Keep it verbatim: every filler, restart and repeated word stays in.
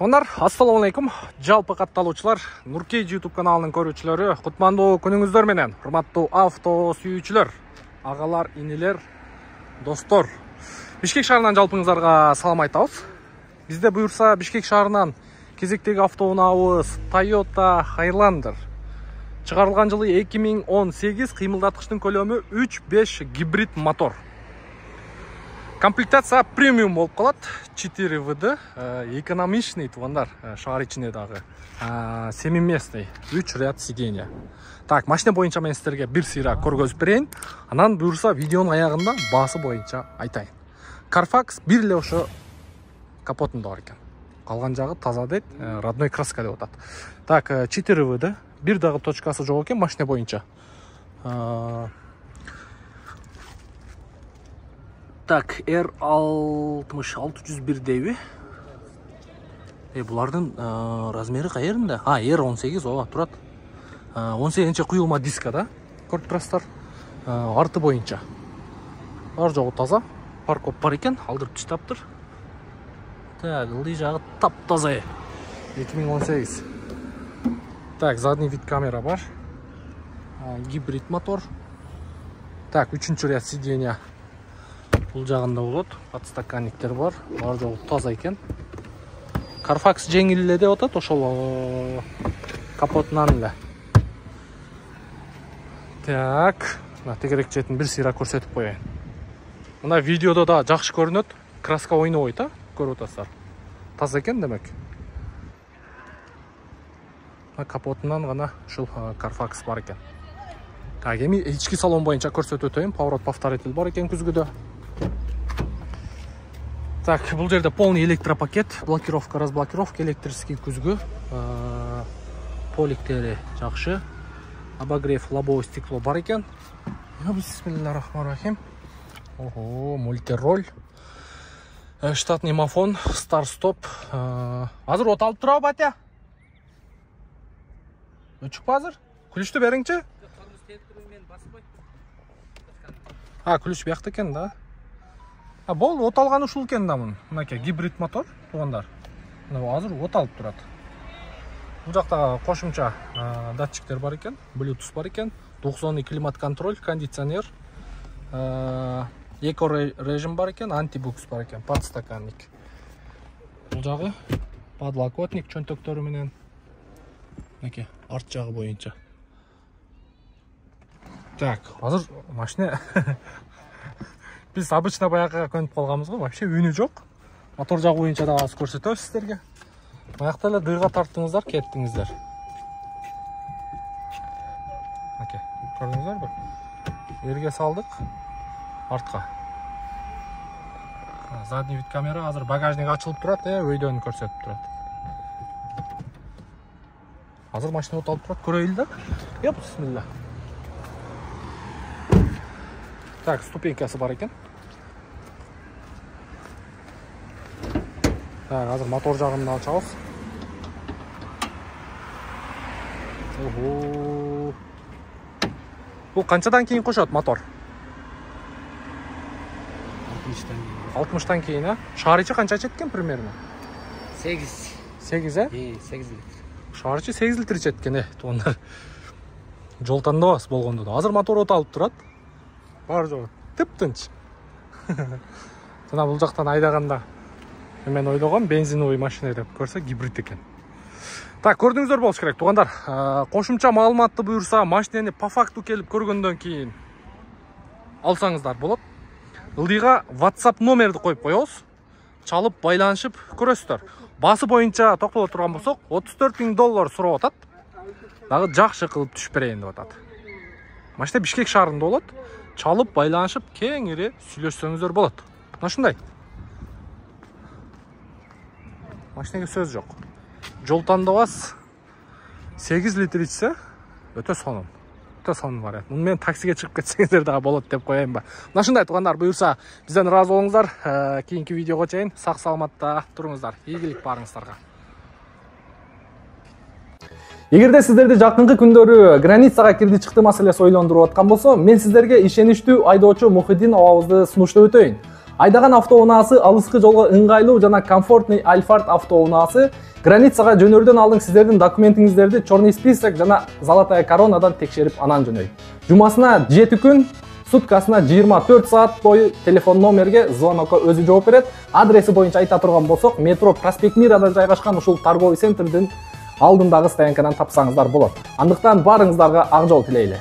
Тондар, ассаламу алейкум. Жалпы катталуучулар, Нуркейджи YouTube каналынын көрүүчүлөрү, кутмандуу күнүңүздөр менен. Урматтуу авто сүйүүчүлөр, агалар, инилер, достор. Бишкек шаарынан жалпыңыздарга салам айтабыз. Бизде буюрса Бишкек шаарынан кезектеги авто унаабыз Toyota Highlander. Чыгарылган жылы эки миң он сегиз, кыймылдаткычтын көлөмү үч беш гибрид мотор. Комплектация премиум болуп калат, четыре вэ дэ, экономичный туугандар, шаар ичинде дагы, семиместный, үч ряд сиденья. Так, машина боюнча мен сиздерге бир сыйра көргөзүп берейин, анан буюрса видеонун аягында баасы боюнча айтайын. Carfax бир эле ошо капотунда бар экен. Калган жагы таза дейт, родной краска деп атат. Так, четыре вэ дэ, бир дагы точкасы жок экен машина боюнча. Так, эр алтымыш алты жүз бир дейби. Э, булардын размери каеринде? А, эр он сегиз, ооба, турат. он сегизинчи куюлма диска да, көрүп турасыздар. Арты боюнча. Ар жогу таза, паркоп бар экен, алдырып таштаптыр. Так, ылдый жагы таптаза. эки миң он сегиз. Так, задний вид камера бар. Гибрид мотор. Так, үчүнчү ряд сиденья. Бул жагында болот, подстаканниктер бар, ар жогу таза экен. Carfax жеңил эле деп атат, ошол капотунан эле. Так, мына тегерек четин бир сыйра көрсөтүп коеюн. Мына видеодо да жакшы көрүнөт, краска ойнобойт, а, көрүп атасыздар. Таза экен демек. Капотунан гана ушул Carfax бар экен. Так, эми ички салон боюнча көрсөтүп өтөйүн. Поворот повторитель бар экен күзгүдө. Так, бул жерде полный электропакет, блокировка, разблокировка, электрический күзгү, поликтери жакшы, обогрев, лобовое стекло бар экен. Бисмиллахиррахманиррахим. Ого, мультироль, штатный мафон, старт-стоп. Азыр от алып турабы, батя? Өчүкпү азыр? Күлүштү бериңчи? А, күлүш биякта экен да. А, бол, от алган ушул экен да мун. Мынакей гибрид мотор, туугандар. Мына азыр от алып турат. Бул жакта кошумча датчиктер бар экен, Bluetooth бар экен, двухзонный климат контроль, кондиционер, эко режим бар экен, антибукс бар экен, подстаканник. Бул жагы подлокотник чөнтөктөрү менен. Мынакей арт жагы боюнча. Так, азыр машина биз обычно баягыга көнүп калганбыз го, вообще үнү жок. Мотор жагы боюнча да аз көрсөтөбүз сиздерге. Баягыда эле дыйга тарттыңыздар, кеттиңиздер. Окей, көрдүңүздөрбү? Эрге салдык, артка. Задний вид камера, азыр багажник ачылып турат, э, өйдөн көрсөтүп турат. Азыр машина от алып турат, көрөйүн да. Еп, бисмилла. Так, ступенькасы бар экен. Так, азыр мотор жагын ачабыз. Ого. Бул канчадан кийин кошот мотор? алтымыштан кийин, а? Шаар ичи канча ичет экен примерно? сегиз. сегиз, э? Э, сегиз литр. Шаар ичи сегиз литр ичет экен, э, туугандар. Жол тандабыз болгондо да. Азыр мотор от алып турат. Бар жогу тып-тынч. Жана бул жактан айдаганда мен ойлогом бензиновый машина деп көрсө гибрид экен. Так, көрдүңүздөр болуш керек, туугандар. Кошумча маалыматты буюрса, машинени по факту келип көргөндөн кийин алсаңыздар болот. Ылдыйга WhatsApp номерди коюп коебуз. Чалып байланышып көрөсүздөр. Баасы боюнча токтоло турган болсок, отуз төрт миң доллар сурап атат. Дагы жакшы кылып түшүп берейин деп атат. Машина Бишкек шаарында болот. Чалып байланышып кеңири сүйлөшсөңүздөр болот. Мына ушундай. Машинеге сөз жок. Жол тандабас сегиз литр ичсе, өтө сонун. Өтө сонун вариант. Муну менен таксиге чыгып кетсеңиздер дагы болот деп коеюнба. Мына ушундай туугандар, буюрса бизден ыраазы болуңуздар. Кийинки видеого чейин сак саламатта туруңуздар. Ийгилик барыңыздарга. Эгерде сиздерди жакынкы күндөрү границага кирди чыкты маселеси ойлондуруп аткан болсо, мен сиздерге ишеничтүү айдоочу Мухиддин абабызды сунуштап өтөйүн. Айдаган автоунаасы алыскы жолго ыңгайлуу жана комфортный Альфард автоунаасы границага жөнөрдөн алдын сиздердин документиңиздерди черный список жана золотая коронадан текшерип анан жөнөйт. Жумасына жети күн, суткасына жыйырма төрт саат бою телефон номерге, звонокко өзү жооп берет. Адреси боюнча айта турган болсок, метро Проспект Мирада жайгашкан ушул торговый центрдин алдындагы стоянкадан тапсаңыздар болот. Андыктан баарыңыздарга ак жол тилейли.